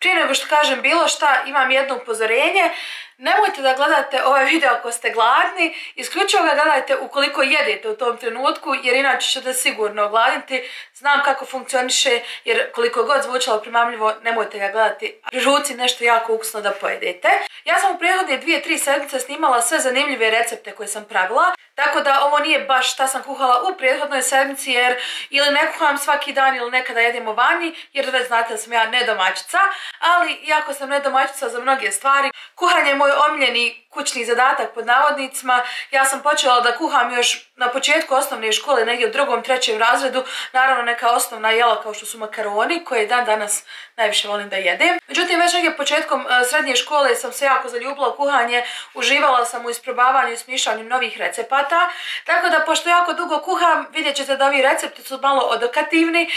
Prije nego što kažem bilo šta, imam jedno upozorenje. Nemojte da gledate ovaj video ako ste gladni, isključivo ga gledajte ukoliko jedete u tom trenutku, jer inače ćete sigurno ogladiti. Znam kako funkcioniše, jer koliko god zvučalo primamljivo, nemojte ga gledati. Pri ruci nešto jako ukusno da pojedete. Ja sam u prethodne 2-3 sedmice snimala sve zanimljive recepte koje sam pravila, tako da ovo nije baš šta sam kuhala u prethodnoj sedmici, jer ili ne kuham svaki dan ili nekada jedemo vani, jer već znate da sam ja nedomaćica, ali iako sam nedomaćica za mnoge stvari, kuhanje je moj omiljeni kućni zadatak pod navodnicima. Ja sam počela da kuham još na početku osnovne škole, negdje u 2., 3. razredu, naravno neka osnovna jela kao što su makaroni, koje dan danas najviše volim da jedem. Međutim, već negdje početkom srednje škole sam se jako zaljubila u kuhanje, uživala sam u isprobavanju i smišljanju novih recepata, tako da pošto jako dugo kuham, vidjet ćete da ovi recepti su malo odokativni,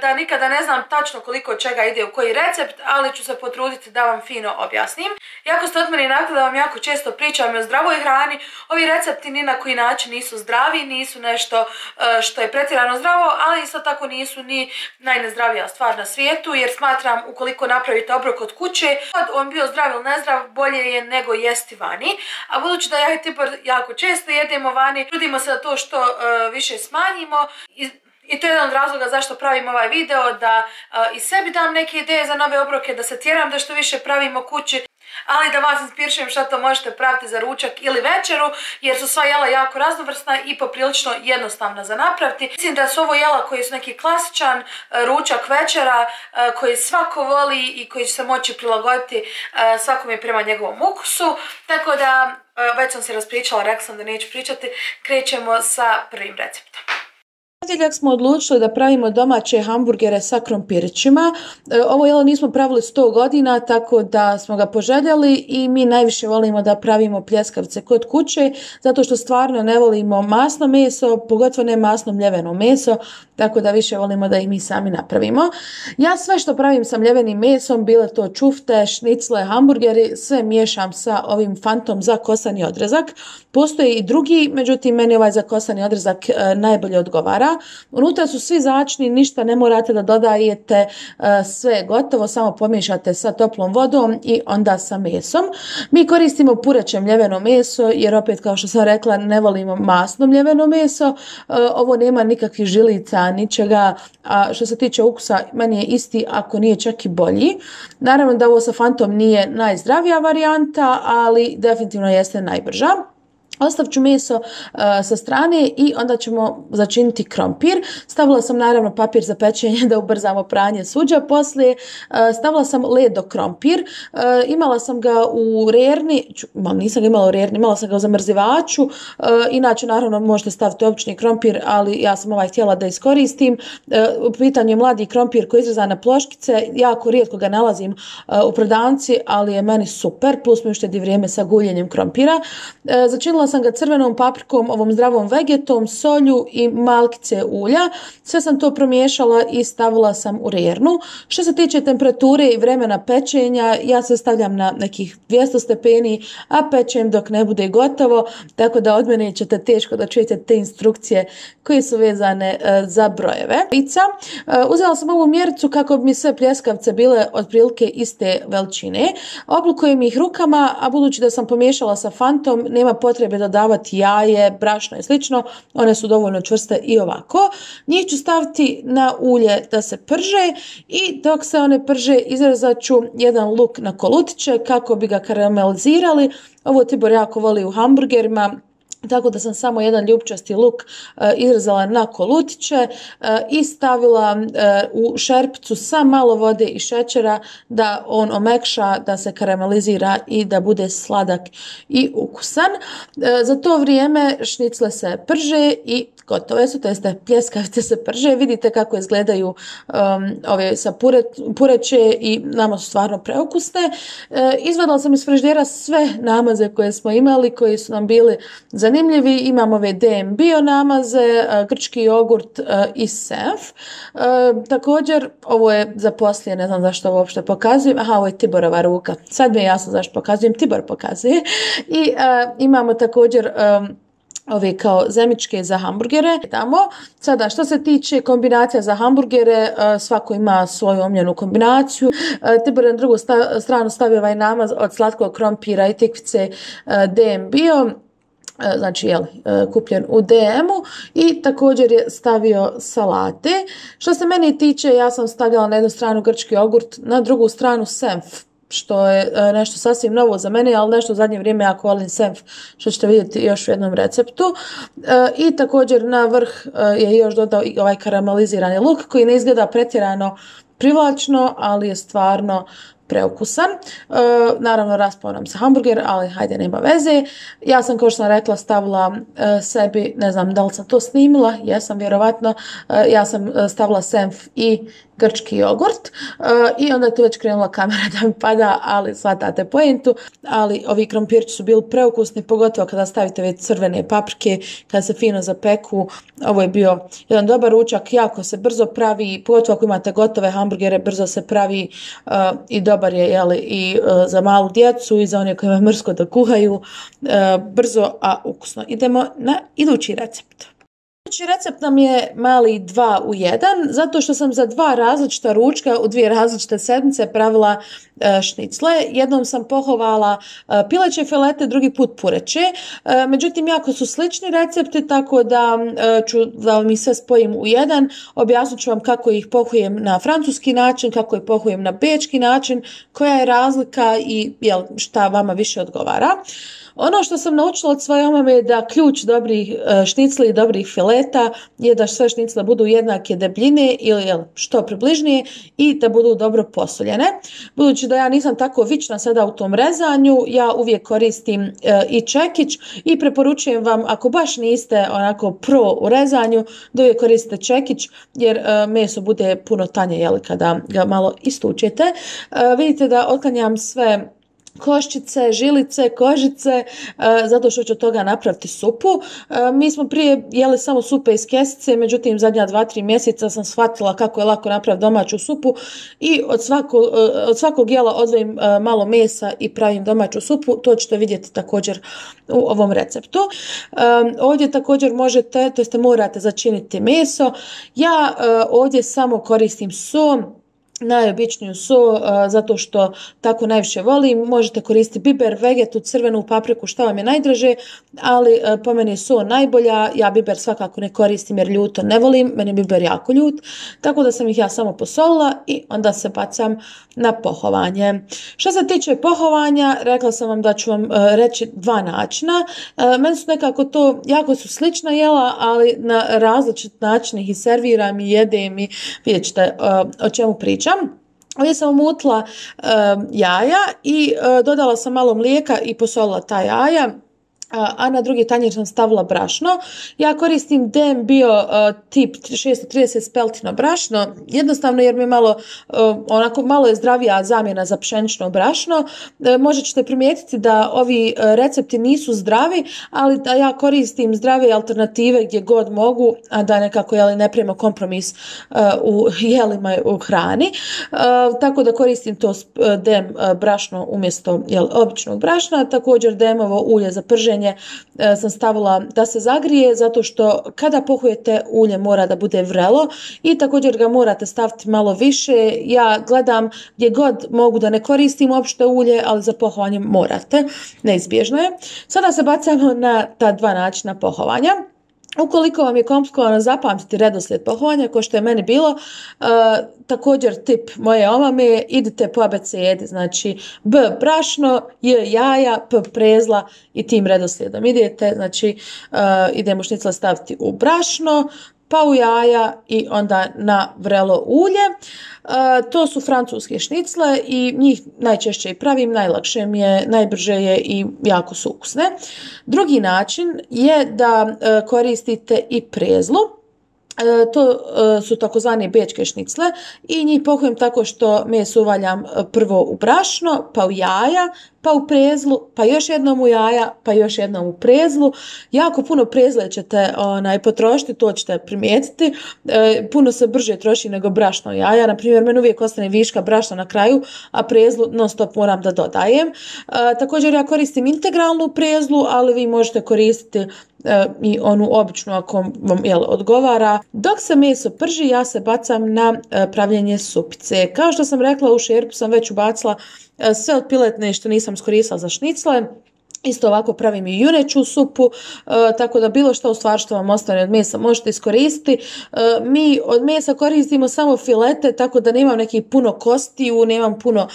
da nikada ne znam tačno koliko čega ide u koji recept, ali ću se potruditi da vam fino objasnim. Jako ste od mene navikli da vam jako često pričam o zdravoj hrani, ovi recepti ni na koji način nisu zdravi, nisu nešto što je pretjerano zdravo, ali isto tako nisu ni najnezdravija stvar na svijetu, jer smatram ukoliko napravite obrok od kuće, on bio zdrav ili nezdrav, bolje je nego jesti vani. A budući da ja i Tibor jako često jedemo vani, trudimo se da to što više smanjimo. I to je jedan od razloga zašto pravim ovaj video, da i sebi dam neke ideje za nove obroke, da se tjeram da što više pravimo kući, ali da vas inspirišem što to možete praviti za ručak ili večeru, jer su sva jela jako raznovrsna i poprilično jednostavna za napraviti. Mislim da su ovo jela koji su neki klasičan ručak večera, koji svako voli i koji će se moći prilagoditi svakome prema njegovom ukusu. Tako da, već sam se raspričala, rekla sam da neću pričati, krećemo sa prvim receptom. Ponedjeljak smo odlučili da pravimo domaće hamburgere sa krompirićima. Ovo jelo nismo pravili 100 godina, tako da smo ga poželjeli i mi najviše volimo da pravimo pljeskavce kod kuće, zato što stvarno ne volimo masno meso, pogotovo ne masno mljeveno meso, tako da više volimo da ih mi sami napravimo. Ja sve što pravim sa mljevenim mesom, bile to čufte, šnicle, hamburgeri, sve miješam sa ovim fantom za kosani odrezak. Postoji i drugi, međutim meni ovaj za kosani odrezak najbolje odgovara. Unutra su svi začini, ništa ne morate da dodajete, sve je gotovo, samo pomiješate sa toplom vodom i onda sa mesom. Mi koristimo pureće mljeveno meso, jer opet kao što sam rekla ne volimo masno mljeveno meso. Ovo nema nikakvih žilica, ničega, a što se tiče ukusa meni je isti, ako nije čak i bolji. Naravno da ovo sa fantom nije najzdravija varijanta, ali definitivno jeste najbrža. Ostavit ću meso sa strane i onda ćemo začiniti krompir. Stavila sam naravno papir za pečenje da ubrzamo pranje suđa. Poslije stavila sam ledo krompir. Imala sam ga u rerni, nisam ga imala u rerni, imala sam ga u zamrzivaču. Inače naravno možete staviti obični krompir, ali ja sam htjela da iskoristim. U pitanju je mladi krompir koji je izrezan na ploškice. Jako rijetko ga nalazim u prodavnici, ali je meni super. Plus mi uštedi vrijeme sa guljenjem krompira. Začinila sam ga crvenom paprikom, ovom zdravom vegetom, solju i malkice ulja. Sve sam to promiješala i stavila sam u rernu. Što se tiče temperature i vremena pečenja, ja se stavljam na nekih 200 stepeni, a pečem dok ne bude gotovo, tako da od mene ćete teško da čujete te instrukcije koje su vezane za brojeve. Uzela sam ovu mjericu kako bi mi sve pljeskavce bile otprilike iste veličine. Oblukujem ih rukama, a budući da sam pomiješala sa fantom, nema potrebe dodavati jaje, brašno i slično, one su dovoljno čvrste i ovako. Njih ću staviti na ulje da se prže i dok se one prže izrezat ću jedan luk na kolutiće kako bi ga karamelizirali. Ovo Tibor jako voli u hamburgerima, tako da sam samo jedan ljupčasti luk izrezala na kolutiće i stavila u šerpicu sa malo vode i šećera da on omekša, da se karamelizira i da bude sladak i ukusan. Za to vrijeme šnicle se prže i gotove su, to jeste pljeskavce se prže. Vidite kako izgledaju ove sa pureće i nama su stvarno preukusne. Izvadila sam iz frižidera sve namaze koje smo imali, koji su nam bili zanimljivi. Imam ove DM bio namaze, grčki jogurt i senf. Također, ovo je za poslije, ne znam zašto ovo uopšte pokazujem. Aha, ovo je Tiborova ruka. Sad mi je jasno zašto pokazujem, Tibor pokazuje. I imamo također ove kao zemičke za hamburgere. Sada, što se tiče kombinacija za hamburgere, svako ima svoju omljenu kombinaciju. Tibor na drugu stranu stavio ovaj namaz od slatkog krompira i tikvice DM bio, znači kupljen u DM-u, i također je stavio salate. Što se meni tiče, ja sam stavljala na jednu stranu grčki jogurt, na drugu stranu senf, što je nešto sasvim novo za mene, ali nešto u zadnje vrijeme jako volim senf, što ćete vidjeti još u jednom receptu. I također na vrh je još dodao i ovaj karamelizirani luk koji ne izgleda pretjerano privlačno, ali je stvarno preukusan. Naravno raspao nam se hamburger, ali hajde, nema veze. Ja sam, kao što sam rekla, stavila sebi, ne znam da li sam to snimila, jesam vjerovatno, ja sam stavila senf i grčki jogurt i onda je tu već krenula kamera da mi pada, ali shvatate pojentu. Ali ovi krompirči su bili preukusni, pogotovo kada stavite već crvene paprike, kada se fino zapeku. Ovo je bio jedan dobar ručak, jako se brzo pravi, pogotovo ako imate gotove hamburgere, brzo se pravi i dobar je i za malu djecu i za one koji imaju mrsko da kuhaju, brzo, a ukusno. Idemo na idući recept. Idući recept nam je mali 2 u 1, zato što sam za 2 različita ručka u 2 različite sedmice pravila šnicle. Jednom sam pohovala pileće filete, drugi put pureće. Međutim, jako su slični recepti, tako da ću da vam ih sve spojim u jedan. Objasnit ću vam kako ih pohujem na francuski način, kako ih pohujem na bečki način, koja je razlika i šta vama više odgovara. Ono što sam naučila od svoje mame je da ključ dobrih šnicli i dobrih fileta je da sve šnicle budu jednake debljine ili što približnije i da budu dobro posoljene. Budući da ja nisam tako vična sada u tom rezanju, ja uvijek koristim i čekić i preporučujem vam, ako baš niste onako pro u rezanju, da uvijek koristite čekić jer meso bude puno tanje kada ga malo istučete. Vidite da otklanjam sve koščice, žilice, kožice, zato što ću od toga napraviti supu. Mi smo prije jeli samo supe iz kesice, međutim zadnja 2-3 mjeseca sam shvatila kako je lako napraviti domaću supu i od svakog jela odvojim malo mesa i pravim domaću supu. To ćete vidjeti također u ovom receptu. Ovdje također možete, to jest morate začiniti meso. Ja ovdje samo koristim so, najobičniju so, zato što tako najviše volim. Možete koristiti biber, vegetu, crvenu papriku, što vam je najdraže, ali po meni je so najbolja. Ja biber svakako ne koristim jer ljuto ne volim, meni je biber jako ljut, tako da sam ih ja samo posolila i onda se bacam na pohovanje. Što se tiče pohovanja, rekla sam vam da ću vam reći 2 načina. Meni su nekako to, jako su slična jela, ali na različit način ih i serviram i jedem i vidjet ćete o čemu pričam. Ovdje sam umutila jaja i dodala sam malo mlijeka i posolila ta jaja. A na drugi tanjir sam stavila brašno. Ja koristim DM bio tip 630 speltino brašno, jednostavno jer mi je malo je zdravija zamjena za pšenično brašno. Možda ćete primijetiti da ovi recepti nisu zdravi, ali da ja koristim zdrave alternative gdje god mogu, a da nekako ne pravimo kompromis u jelima u hrani. Tako da koristim to DM brašno umjesto običnog brašna. Također DM-ovo ulje za prženje sam stavila da se zagrije, zato što kada pohujete ulje mora da bude vrelo i također ga morate staviti malo više. Ja gledam gdje god mogu da ne koristim uopšte ulje, ali za pohovanje morate, neizbježno je. Sada se bacamo na ta 2 načina pohovanja. Ukoliko vam je komplikovano zapamtiti redoslijed pohovanja, kao što je meni bilo, također tip moje omame, idite po abecedi, znači B brašno, J jaja, P prezla i tim redoslijedom idete, znači idemo šnicle staviti u brašno, pa u jaja i onda na vrelo ulje. To su francuske šnicle i njih najčešće i pravim, najlakše mi je, najbrže je i jako su ukusne. Drugi način je da koristite i prezlu. To su takozvane bečke šnicle i njih pohujem tako što meso uvaljam prvo u brašno, pa u jaja, pa u prezlu, pa još jednom u jaja, pa još jednom u prezlu. Jako puno prezle ćete potrošiti, to ćete primijetiti. Puno se brže troši nego brašno i jaja. Naprimjer, meni uvijek ostane viška brašna na kraju, a prezlu non stop moram da dodajem. Također ja koristim integralnu prezlu, ali vi možete koristiti i onu običnu ako vam odgovara. Dok se meso prži, ja se bacam na pravljenje supice. Kao što sam rekla, u šerpu sam već ubacila sve od piletne što nisam iskoristila za šnicle. Isto ovako pravim i juneću supu, tako da bilo što u stvari što vam ostane od mesa možete iskoristiti. Mi od mesa koristimo samo filete, tako da nemam nekih puno kostiju, nemam puno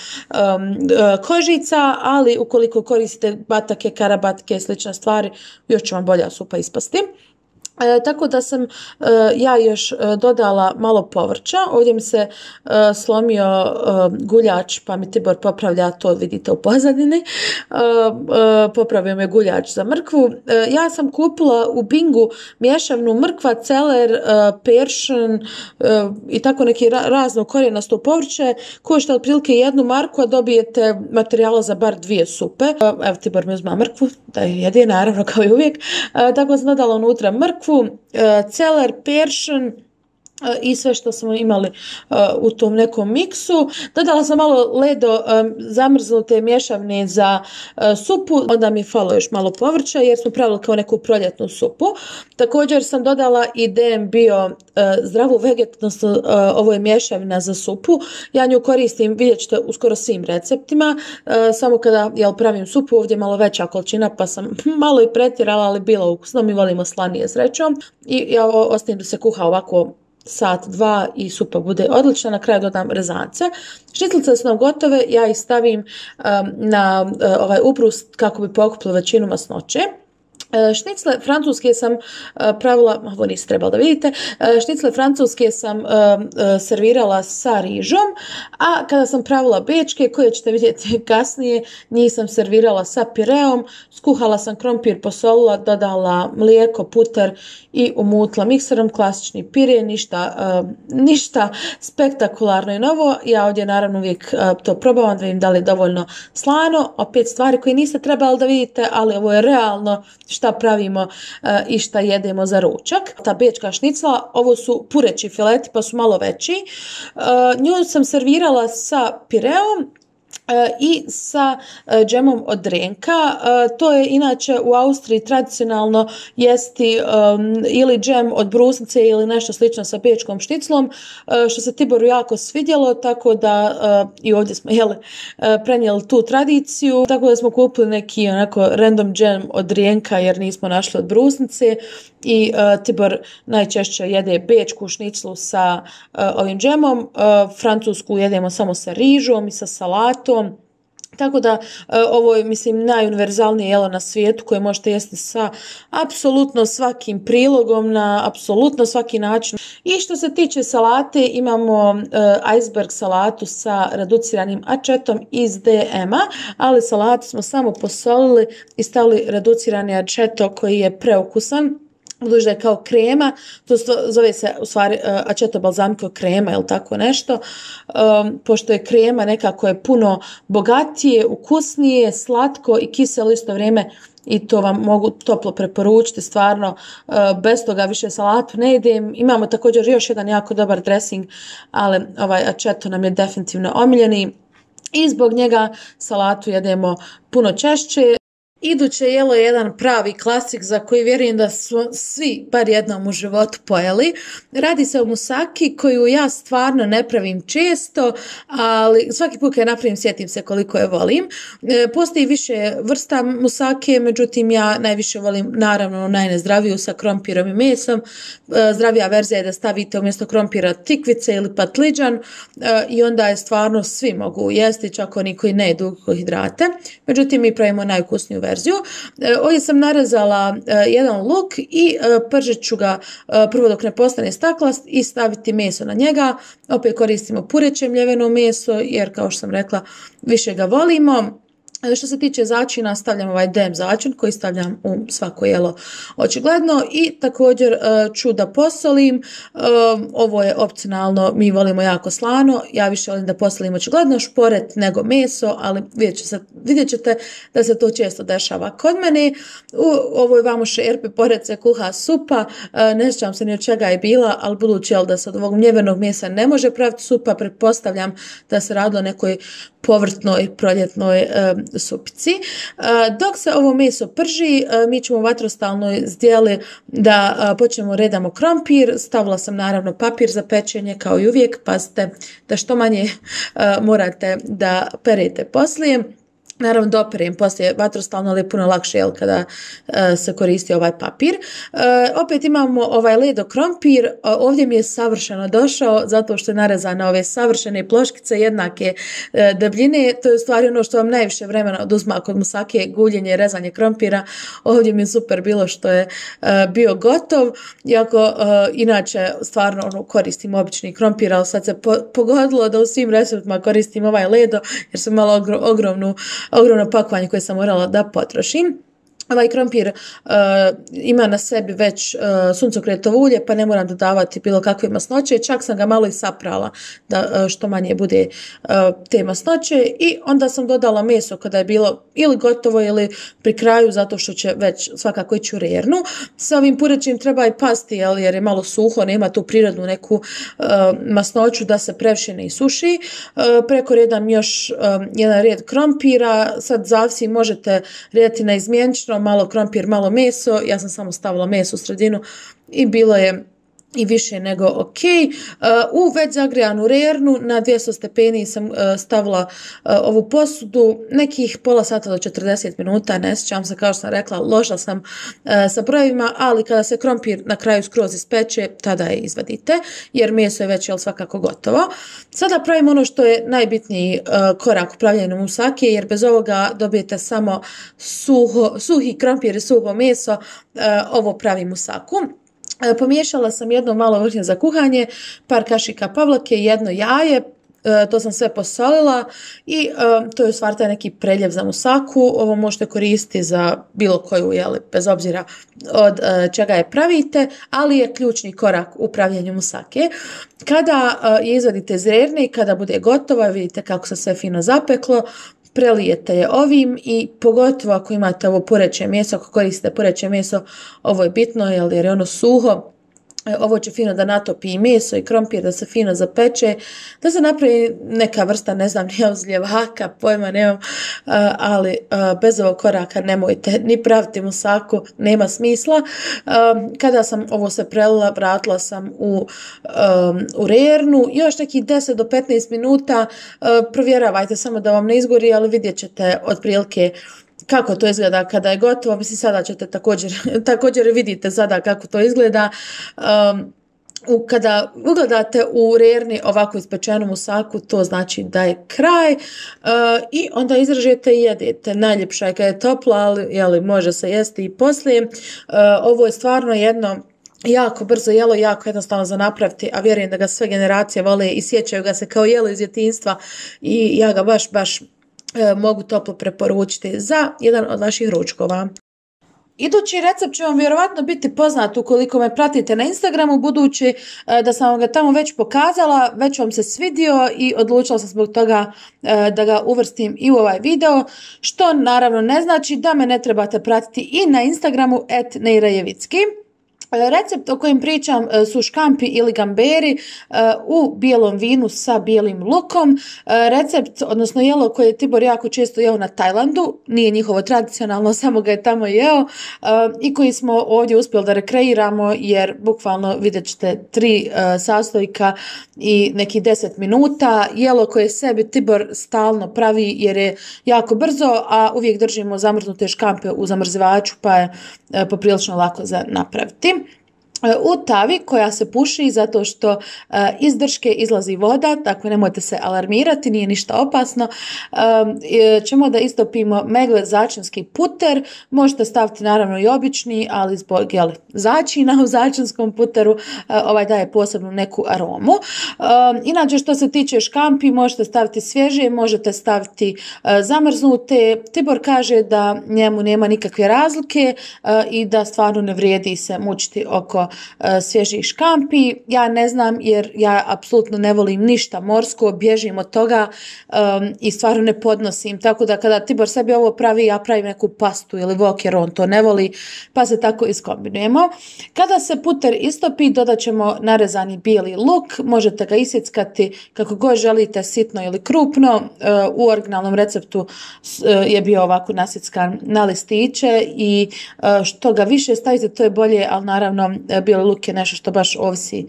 kožica, ali ukoliko koristite batake, karabatke i slične stvari, još će vam bolja supa ispasti. Tako da sam ja još dodala malo povrća. Ovdje mi se slomio guljač, pa mi Tibor popravlja to, vidite u pozadini. Popravio me guljač za mrkvu. Ja sam kupila u Bingu mješavnu mrkva, celer, peršin i tako neki razno korijenasto povrće. Košta otprilike 1 marku, a dobijete materijala za bar 2 supe. Evo Tibor mi uzma mrkvu, da je jede, naravno kao i uvijek. Tako sam dodala unutra mrkvu, celer, peršin i sve što smo imali u tom nekom miksu. Dodala sam malo ledo zamrznute mješavne za supu, onda mi je falo još malo povrća jer smo pravili kao neku proljetnu supu. Također sam dodala i DM bio zdravu vegetu, ovo je mješavina za supu. Ja nju koristim, vidjet ćete, u skoro svim receptima, samo kada pravim supu, ovdje je malo veća količina pa sam malo i pretjerala, ali bilo ukusno, mi volimo slanije srećom i ja ostavim da se kuha ovako sat, 2 i supa bude odlična. Na kraju dodam rezance. Šniclice su nam gotove, ja ih stavim na ovaj ubrus kako bi pokupila većinu masnoće. Šnicle francuske sam pravila, ovo niste trebali da vidite, šnicle francuske sam servirala sa rižom, a kada sam pravila bečke, koje ćete vidjeti kasnije, njih sam servirala sa pireom, skuhala sam krompir, posolila, dodala mlijeko, puter i umutla mikserom, klasični pire, ništa spektakularno i novo. Ja ovdje naravno uvijek to probavam da vidim da li je dovoljno slano, opet stvari koje niste trebali da vidite, ali ovo je realno šta pravimo i šta jedemo za ručak. Ta bečka šnicla, ovo su pureći fileti pa su malo veći. Nju sam servirala sa pireom i sa džemom od drenka. To je inače u Austriji tradicionalno jesti ili džem od brusnice ili nešto slično sa bečkom šniclom, što se Tiboru jako svidjelo, tako da i ovdje smo prenijeli tu tradiciju, tako da smo kupili neki onako random džem od drenka jer nismo našli od brusnice i Tibor najčešće jede bečku šniclu sa ovim džemom, francusku jedemo samo sa rižom i sa salatom. Tako da ovo je, mislim, najuniverzalnije jelo na svijetu koje možete jesti sa apsolutno svakim prilogom, na apsolutno svaki način. I što se tiče salate, imamo iceberg salatu sa reduciranim ačetom iz DM-a, ali salatu smo samo posolili i stavili reducirani ačeto koji je preukusan. Budući da je kao krema, to zove se u stvari aceto balsamico krema ili tako nešto, pošto je krema nekako je puno bogatije, ukusnije, slatko i kiselo isto vrijeme i to vam mogu toplo preporučiti, stvarno bez toga više salatu ne idem. Imamo također još jedan jako dobar dressing, ali ovaj aceto nam je definitivno omiljeni i zbog njega salatu jedemo puno češće. Iduće jelo je jedan pravi klasik za koji vjerujem da smo svi bar jednom u životu pojeli. Radi se o musaki koju ja stvarno ne pravim često, ali svaki put kad je napravim sjetim se koliko je volim. Postoji više vrsta musake, međutim ja najviše volim naravno najnezdraviju sa krompirom i mesom. Zdravija verzija je da stavite umjesto krompira tikvice ili patliđan i onda je stvarno svi mogu jesti, čak oni koji ne jedu ugljikohidrate. Međutim mi pravimo najukusniju verziju. Ovdje sam narezala jedan luk i pržit ću ga prvo dok ne postane staklast i staviti meso na njega. Opet koristimo pureće mljeveno meso jer kao što sam rekla više ga volimo. Što se tiče začina, stavljam ovaj DM začin koji stavljam u svako jelo očigledno i također ću da posolim. Ovo je opcionalno, mi volimo jako slano, ja više volim da posolim očigledno šporet nego meso, ali vidjet ćete da se to često dešava kod mene. U ovoj vamo šerpi pored se kuha supa, ne sjećam se ni od čega je bila, ali budući da se od ovog mljevenog mesa ne može praviti supa, pretpostavljam da se radilo nekoj povrtnoj, proljetnoj supici. Dok se ovo meso prži, mi ćemo u vatrostalnoj zdjeli da počnemo redamo krompir. Stavila sam naravno papir za pečenje kao i uvijek. Pazite da što manje morate da perete poslije. Naravno doperem poslije vatrostalno, ali je puno lakše kada se koristi ovaj papir. Opet imamo ovaj ledo krompir, ovdje mi je savršeno došao zato što je narezan na ove savršene ploškice jednake debljine. To je u stvari ono što vam najviše vremena oduzma kod musake, guljenje i rezanje krompira. Ovdje mi je super bilo što je bio gotov, iako inače stvarno koristim obični krompir, ali sad se pogodilo da u svim receptima koristim ovaj ledo jer sam imala ogromno pakovanje koje sam morala da potrošim. Ovaj krompir ima na sebi već suncokretovo ulje, pa ne moram dodavati bilo kakve masnoće. Čak sam ga malo i saprala da što manje bude te masnoće. I onda sam dodala meso kada je bilo ili gotovo ili pri kraju, zato što će već svakako ići u rernu. Sa ovim purećim treba i pasti jer je malo suho, nema tu prirodnu neku masnoću da se previše ne isuši. Preko redam još jedan red krompira. Sad zavisi, možete redati na izmjenično, malo krompir, malo meso. Ja sam samo stavila meso u sredinu i bilo je i više nego ok. U već zagrijanu rernu na 200 stepeni sam stavila ovu posudu nekih pola sata do 40 minuta, ne sjećam se, kao što sam rekla, loša sam sa brojevima, ali kada se krompir na kraju skroz ispeče, tada je izvadite, jer meso je već svakako gotovo. Sada pravimo ono što je najbitniji korak u pravljenju musake, jer bez ovoga dobijete samo suhi krompir i suho meso. Ovo pravi musaku. Pomiješala sam jedno malo vrhnje za kuhanje, par kašika pavlake, jedno jaje, to sam sve posolila i to je u stvari taj neki preljev za musaku. Ovo možete koristiti za bilo koju, bez obzira od čega je pravite, ali je ključni korak u pravljenju musake. Kada je izvadite iz rerne i kada bude gotova, vidite kako se sve fino zapeklo, prelijete je ovim i pogotovo ako imate ovo pureće meso, ako koristite pureće meso, ovo je bitno jer je ono suho. Ovo će fino da natopi i meso i krompir, da se fino zapeče, da se napravi neka vrsta, ne znam, ljevaka, pojma nemam, ali bez ovog koraka nemojte ni praviti musaku, nema smisla. Kada sam ovo se prelila, vratila sam u rernu, još nekih 10 do 15 minuta, provjeravajte samo da vam ne izgori, ali vidjet ćete otprilike kako to izgleda kada je gotovo. Mislim, sada ćete također vidite sada kako to izgleda. Kada ugledate u rerni ovako ispečenu musaku, to znači da je kraj i onda izražete i jedete. Najljepša je kada je topla, ali može se jesti i poslije. Ovo je stvarno jedno jako brzo jelo, jako jednostavno za napraviti, a vjerujem da ga sve generacije vole i sjećaju ga se kao jelo iz djetinjstva i ja ga baš mogu toplo preporučiti za jedan od vaših ručkova. Idući recept će vam vjerovatno biti poznat ukoliko me pratite na Instagramu, budući da sam vam ga tamo već pokazala, već vam se svidio i odlučila sam zbog toga da ga uvrstim i u ovaj video, što naravno ne znači da me ne trebate pratiti i na Instagramu @neirajevicki. Recept o kojem pričam su škampi ili gamberi u bijelom vinu sa bijelim lukom. Recept, odnosno jelo koje je Tibor jako često jeo na Tajlandu, nije njihovo tradicionalno, samo ga je tamo jeo i koji smo ovdje uspjeli da rekreiramo, jer bukvalno vidjet ćete 3 sastojka i neki 10 minuta. Jelo koje sebi Tibor stalno pravi jer je jako brzo, a uvijek držimo zamrznute škampe u zamrzivaču, pa je poprilično lako za napraviti. U tavi koja se puši zato što iz drške izlazi voda, tako nemojte se alarmirati, nije ništa opasno, ćemo da istopimo megle začinski puter. Možete staviti naravno i obični, ali zbog začina u začinskom puteru ovaj daje posebnu neku aromu. Inače, što se tiče škampi, možete staviti svježe, možete staviti zamrznute. Tibor kaže da njemu nema nikakve razlike i da stvarno ne vrijedi se mučiti oko svježih škampi. Ja ne znam jer ja apsolutno ne volim ništa morsko, bježim od toga i stvarno ne podnosim. Tako da kada Tibor sebi ovo pravi, ja pravim neku pastu ili wok jer on to ne voli, pa se tako iskombinujemo. Kada se puter istopi, dodat ćemo narezani bijeli luk. Možete ga isjeckati kako god želite, sitno ili krupno. U originalnom receptu je bio ovako nasjeckan na listiće i što ga više stavite, to je bolje, ali naravno bijeli luk je nešto što baš ovisi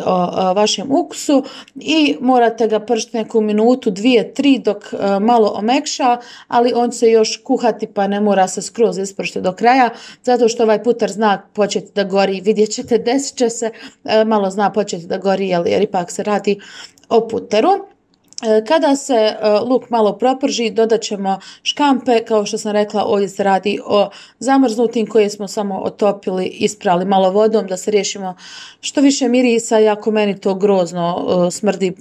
o vašem ukusu i morate ga pržiti neku minutu, 2-3 dok malo omekša, ali on će još kuhati pa ne mora se skroz ispršiti do kraja, zato što ovaj puter zna početi da gori, vidjet ćete, desit će se, malo zna početi da gori jer ipak se radi o puteru. Kada se luk malo proprži, dodat ćemo škampe, kao što sam rekla, ovdje se radi o zamrznutim koje smo samo otopili, isprali malo vodom da se riješimo što više mirisa, iako meni to grozno smrdi.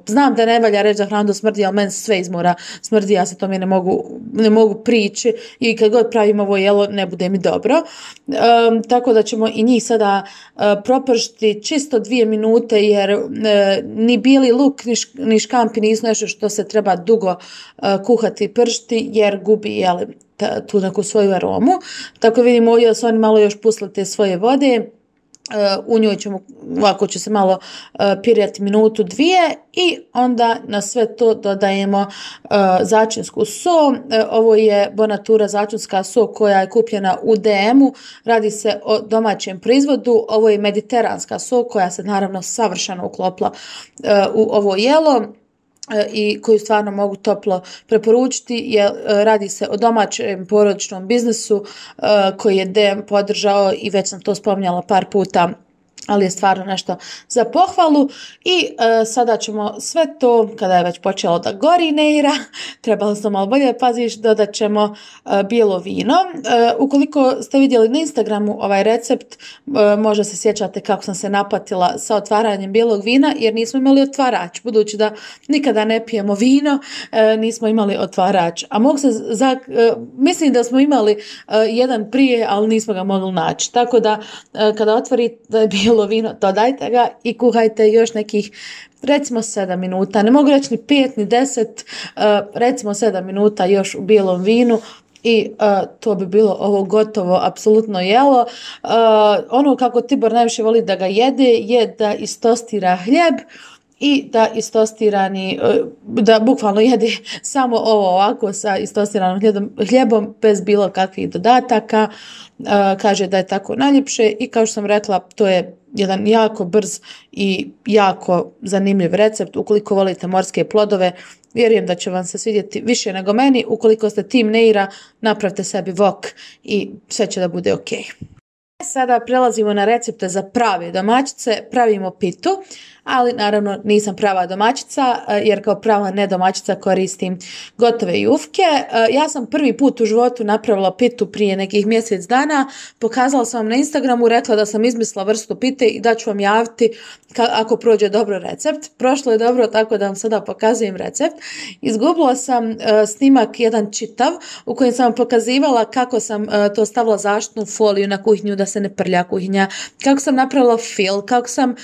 Znam da ne valja reći da hranu smrdi, ali meni sve izmora smrdi, ja se tome ne mogu prići i kad god pravim ovo jelo ne bude mi dobro. Tako da ćemo i njih sada propržiti čisto 2 minute jer ni bijeli luk ni škampi nisu nešto što se treba dugo kuhati i pržiti jer gubi tu neku svoju aromu. Tako vidimo ovdje da su oni malo još pusli te svoje vode. U njoj ćemo, ovako će se malo pirjati minutu, 2 i onda na sve to dodajemo začinsku so. Ovo je Bonatura začinska so koja je kupljena u DM-u. Radi se o domaćem proizvodu. Ovo je mediteranska so koja se naravno savršeno uklopila u ovo jelo i koju stvarno mogu toplo preporučiti jer radi se o domaćem porodičnom biznisu koji je DM podržao i već sam to spominjala par puta, ali je stvarno nešto za pohvalu i sada ćemo sve to, kada je već počelo da gori neira, trebalo sam malo bolje paziš, dodat ćemo bijelo vino. Ukoliko ste vidjeli na Instagramu ovaj recept, možda se sjećate kako sam se napatila sa otvaranjem bijelog vina, jer nismo imali otvarač, budući da nikada ne pijemo vino, nismo imali otvarač. A mislim da smo imali jedan prije, ali nismo ga mogli naći. Tako da kada otvorite bijelo vino, dodajte ga i kuhajte još nekih recimo 7 minuta, ne mogu reći ni 5 ni 10, recimo 7 minuta još u bijelom vinu i to bi bilo ovo gotovo apsolutno jelo. Ono kako Tibor najviše voli da ga jede je da istostira hljeb i da istostirani, da bukvalno jede samo ovo ovako sa istostiranom hljebom bez bilo kakvih dodataka. Kaže da je tako najljepše i kao što sam rekla, to je jedan jako brz i jako zanimljiv recept. Ukoliko volite morske plodove, vjerujem da će vam se svidjeti više nego meni. Ukoliko ste tim neira, napravite sebi wok i sve će da bude ok. Sada prelazimo na recepte za prave domaćice. Pravimo pitu, ali naravno nisam prava domaćica jer kao prava nedomaćica koristim gotove jufke. Ja sam prvi put u životu napravila pitu prije nekih mjesec dana. Pokazala sam vam na Instagramu, rekla da sam izmislila vrstu pite i da ću vam javiti ako prođe dobro recept. Prošlo je dobro, tako da vam sada pokazujem recept. Izgubila sam snimak jedan čitav u kojem sam vam pokazivala kako sam to stavila zaštitnu foliju na kuhinju da se ne prlja kuhinja, kako sam napravila fil, kako sam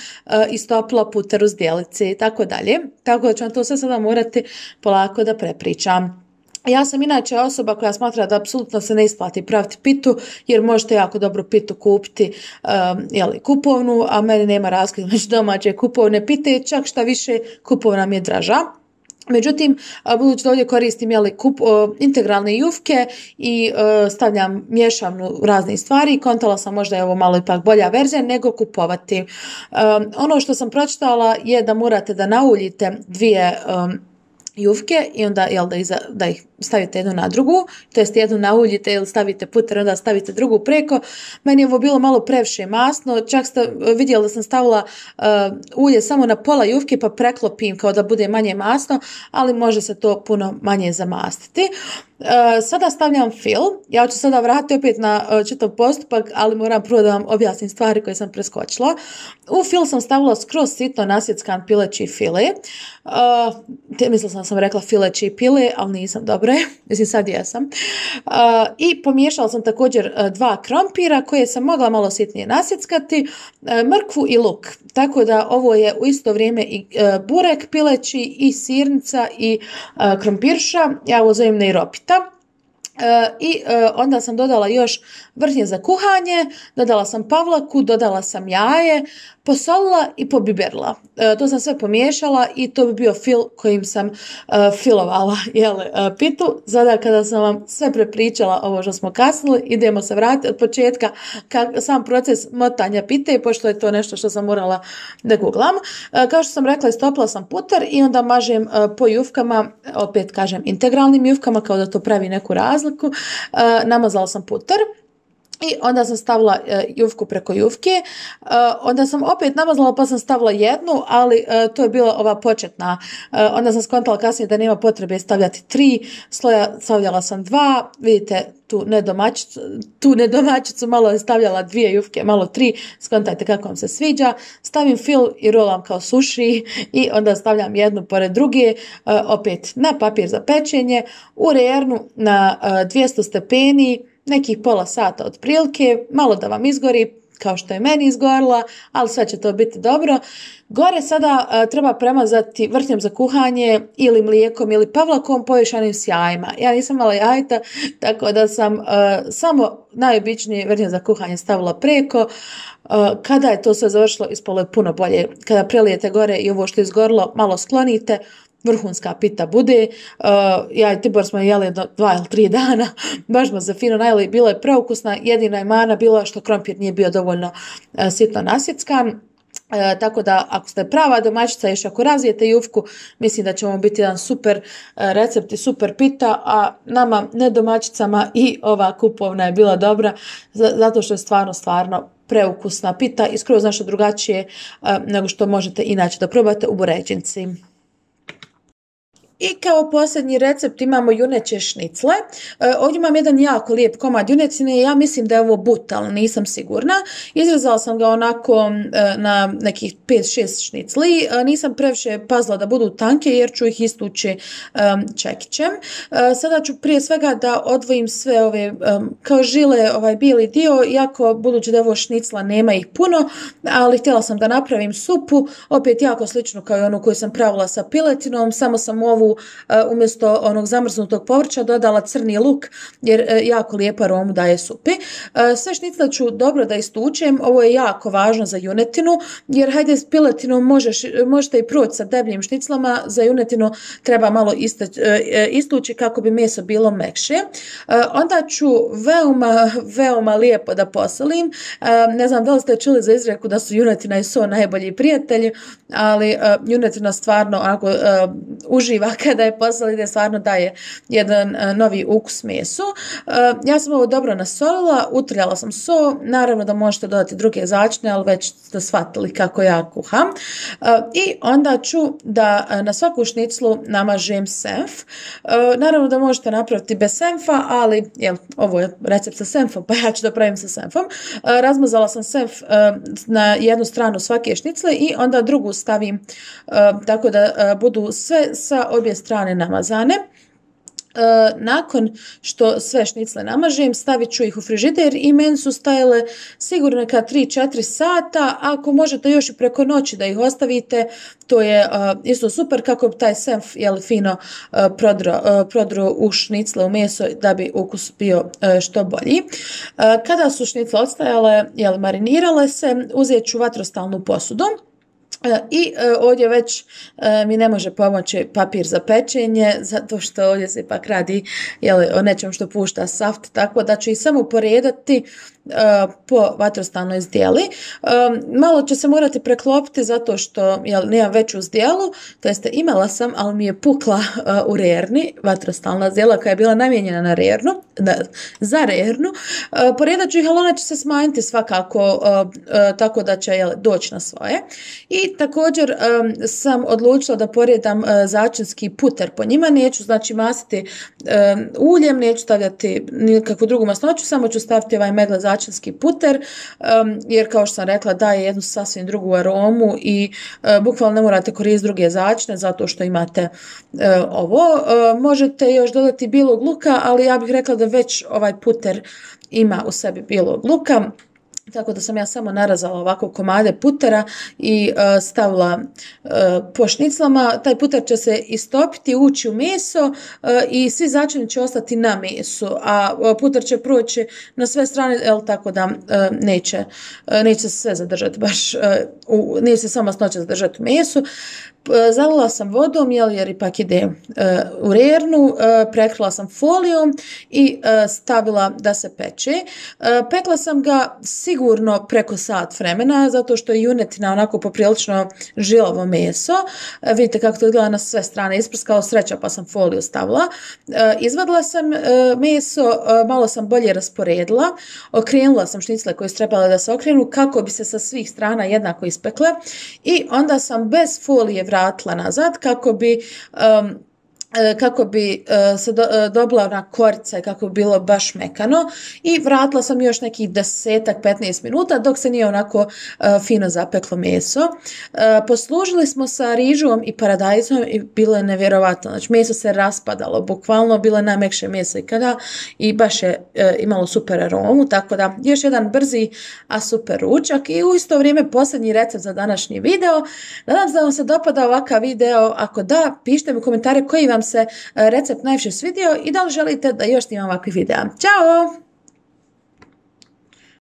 istopila puter u zdjelici i tako dalje. Tako da ću vam to sve sada morati polako da prepričam. Ja sam inače osoba koja smatra da apsolutno se ne isplati praviti pitu jer možete jako dobro pitu kupiti kupovnu, a meni nema razlike među domaće kupovne pite, čak šta više kupovna mi je draža. Međutim, budući da ovdje koristim integralne jufke i stavljam mješavnu raznih stvari, kontala sam možda je ovo malo ipak bolja verzija nego kupovati. Ono što sam pročitala je da morate da nauljite 2 jufke i onda da ih stavite jednu na drugu, to jest jednu nauljite ili stavite puter, onda stavite drugu preko. Meni je ovo bilo malo previše masno, čak ste vidjeli da sam stavila ulje samo na pola jufke pa preklopim kao da bude manje masno, ali može se to puno manje zamastiti. Sada stavljam fil. Ja ću sada vratiti opet na čitav postupak, ali moram prvo da vam objasnim stvari koje sam preskočila. U fil sam stavila skroz sitno nasjeckan pileći file. Mislila sam rekla fileći pile, ali nisam, dobro je. Mislim, sad jesam. I pomiješala sam također 2 krompira koje sam mogla malo sitnije nasjeckati, mrkvu i luk. Tako da ovo je u isto vrijeme i burek pileći i sirnica i krompirša. Ja ovo zovem nejropita. I onda sam dodala još vrhnje za kuhanje, dodala sam pavlaku, dodala sam jaje, posolila i pobiberila. To sam sve pomiješala i to bi bio fil kojim sam filovala pitu. Sada kada sam vam sve prepričala ovo što smo kasnili, idemo se vratiti od početka sam proces motanja pite, pošto je to nešto što sam morala da googlam. Kao što sam rekla, istopila sam putar i onda mažem po jufkama, opet kažem integralnim jufkama, kao da to pravi neku razliku. Namazala sam putar. I onda sam stavila jufku preko jufke, onda sam opet namazala pa sam stavila jednu, ali to je bila ova početna. Onda sam skontala kasnije da nema potrebe stavljati 3 sloja, stavljala sam 2, vidite tu nedomaćicu, malo je stavljala 2 jufke, malo 3, skontajte kako vam se sviđa. Stavim fil i rolam kao suši i onda stavljam jednu pored druge, opet na papir za pečenje, u rernu na 200 stepeni, nekih pola sata otprilike, malo da vam izgori, kao što je meni izgorila, ali sve će to biti dobro. Gore sada treba premazati vrhnjem za kuhanje ili mlijekom ili pavlakom poješanim s jajima. Ja nisam imala jajta, tako da sam samo najobičnije vrhnje za kuhanje stavila preko. Kada je to sve završilo, ispalo je puno bolje. Kada prelijete gore i ovo što je izgorilo, malo sklonite, vrhunska pita bude. Ja i Tibor smo jeli 2 ili 3 dana, baš smo se fino najeli, bila je preukusna, jedina je mana bila što krompir nije bio dovoljno sitno nasjeckan. Tako da ako ste prava domaćica, još ako razvijete jufku, mislim da će vam biti jedan super recept i super pita, a nama nedomaćicama i ova kupovna je bila dobra, zato što je stvarno preukusna pita i skroz nešto drugačije nego što možete inače da probate u buređinci. I kao posljednji recept imamo juneće šnicle. Ovdje imam jedan jako lijep komad junetine i ja mislim da je ovo but, ali nisam sigurna. Izrezala sam ga onako na nekih 5-6 šnicli. Nisam previše pazila da budu tanke jer ću ih istući čekićem. Sada ću prije svega da odvojim sve ove kao žile, ovaj bijeli dio, iako budući da je ovo šnicla nema ih puno, ali htjela sam da napravim supu, opet jako sličnu kao i onu koju sam pravila sa piletinom, samo sam ovu umjesto onog zamrznutog povrća dodala crni luk jer jako lijepu aromu daje supi. Sve šnicle ću dobro da istučem, ovo je jako važno za junetinu jer hajde s piletinom možete i proći sa debljim šniclama, za junetinu treba malo istući kako bi meso bilo mekše. Onda ću veoma lijepo da posolim. Ne znam da li ste čuli za izreku da su junetina i so najbolji prijatelji, ali junetina stvarno ako uživa kada je posolite, stvarno daje jedan novi ukus mesu. Ja sam ovo dobro nasolila, utrljala sam so, naravno da možete dodati druge začine, ali već ste shvatili kako ja kuham. I onda ću da na svaku šniclu namažem senf. Naravno da možete napraviti bez senfa, ali ovo je recept sa senfom, pa ja ću da pravim sa senfom. Razmazala sam senf na jednu stranu svake šnicle i onda drugu stavim tako da budu sve sa obje strane namazane. Nakon što sve šnicle namažem, stavit ću ih u frižider i meni su stajale sigurno neka 3-4 sata. Ako možete još i preko noći da ih ostavite, to je isto super kako bi taj senf fino prodro u šnicle, u meso, da bi ukus bio što bolji. Kada su šnicle odstajale, marinirale se, uzet ću vatrostalnu posudu. I ovdje već mi ne može pomoći papir za pečenje, zato što ovdje se ipak radi o nečem što pušta saft, tako da ću ih samo poredati po vatrostalnoj zdjeli. Malo će se morati preklopiti zato što nemam veću zdjelu, to jeste imala sam, ali mi je pukla u rerni, vatrostalna zdjela koja je bila namijenjena na rernu, za rernu. Poredat ću ih, ali ona će se smanjiti svakako, tako da će doći na svoje. I također sam odlučila da poredam začinski puter po njima, neću znači masiti uljem, neću stavljati nikakvu drugu masnoću, samo ću staviti ovaj Meggle začinski puter, jer kao što sam rekla daje jednu sasvim drugu aromu i bukvalno ne morate koristiti druge začine zato što imate ovo. Možete još dodati bijelog luka, ali ja bih rekla da već ovaj puter ima u sebi bijelog luka. Tako da sam ja samo narazala ovako komade putera i stavila po šniclama. Taj puter će se istopiti, ući u meso i svi začini će ostati na mesu, a puter će proći na sve strane, tako da neće se sve zadržati baš, neće se sama masnoća zadržati u mesu. Zalila sam vodom jer ipak ide u rernu, prekrila sam folijom i stavila da se peče. Pekla sam ga sigurno preko sat vremena zato što je junetina onako poprilično žilavo meso. Vidite kako to izgleda na sve strane isprskalo, sreća pa sam foliju stavila. Izvadila sam meso, malo sam bolje rasporedila, okrenula sam šnicle koje su trebale da se okrenu kako bi se sa svih strana jednako ispekle i onda sam bez folije vratila nazad kako bi se dobila ona korica i kako bi bilo baš mekano i vratila sam još nekih 10-15 minuta dok se nije onako fino zapeklo meso. Poslužili smo sa rižom i paradajzom i bilo je nevjerovatno. Znači meso se raspadalo, bukvalno bilo je najmekše meso ikada i baš je imalo super aromu, tako da još jedan brzi a super ručak i u isto vrijeme posljednji recept za današnji video. Nadam se da vam se dopada ovakav video, ako da, pišite mi u komentare koji vam se recept najviše svidio i da li želite da još snimam ovakvih videa. Ćao!